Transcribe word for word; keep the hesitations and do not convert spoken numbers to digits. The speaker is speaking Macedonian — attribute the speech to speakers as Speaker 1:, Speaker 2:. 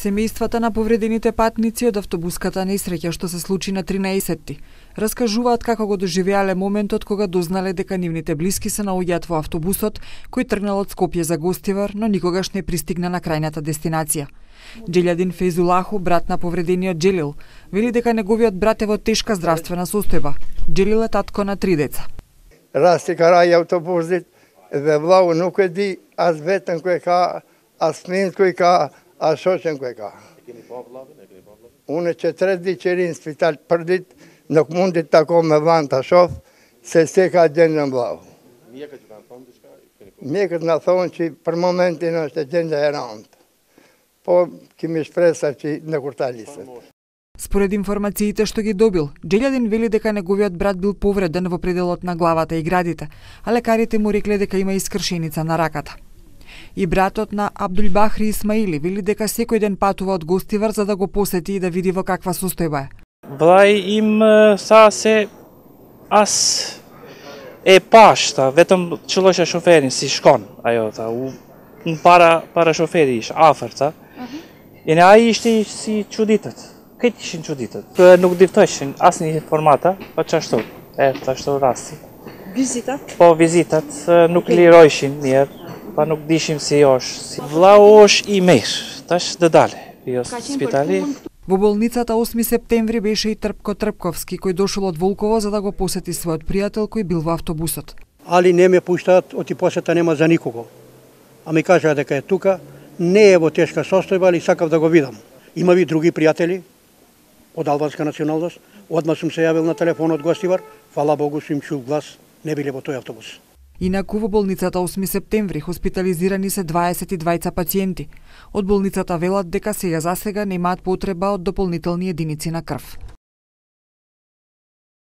Speaker 1: Семејствата на повредените патници од автобуската несреќа што се случи на тринаесетти раскажуваат како го доживеале моментот кога дознале дека нивните блиски се наоѓаат во автобусот кој тргнал од Скопје за Гостивар, но никогаш не пристигна на крајната дестинација. Џелјадин Фейзулаху, брат на повредениот Џелил, вели дека неговиот брат е во тешка здравствена состојба. Џелил е татко на три деца.
Speaker 2: Расти карај автобусит, ве влау нукеди, аз ветен кој ка, аз смин кој ка, а шоќен кој ка. Уне четири черин спитал прдит, нок мундит тако ме ванта шоф, се стека ден на блау. Мекат на сон, че пр моменти на ще ден да е раунд. По ки ми шпреса, че не куртали се.
Speaker 1: Според информациите што ги добил, Џелјадин вели дека неговиот брат бил повреден во пределот на главата и градите, а лекарите му рекле дека има искршеница на раката. И братот на Абдулбахри Исмаили вели дека секој ден патува од Гостивар за да го посети и да види во каква состојба е.
Speaker 3: Влај им са се ас е пашта, ветам чулоша шоферин си шкон, ајота, у пара пара шофери иш аферта. И не ај иште си чудитат. Кај ти шин чудитат? Нук дивтојшин, аз ни формата, па ча што? Е, та што расти.
Speaker 4: Визитат?
Speaker 3: По визитат, нук ли ројшин мир, па нук дишим си још. Влаош и мир, таш да дале. Био спитали.
Speaker 1: Во болницата осми септември беше и Трпко Трпковски, кој дошол од Волково за да го посети својот пријател кој бил во автобусот.
Speaker 5: Али не ме пуштаат, оти посета нема за никого. А ми кажаа дека е тука, не е во тешка состојба, али сакав да го видам. Има ви други пријатели од албанска националност. Одма сум се јавил на телефонот Гостивар, фала Богу сум чул глас, не биле во тој автобус.
Speaker 1: Инаку во болницата осми септември хоспитализирани се дваесет и двајца пациенти. Од болницата велат дека сега засега немаат потреба од дополнителни единици на крв.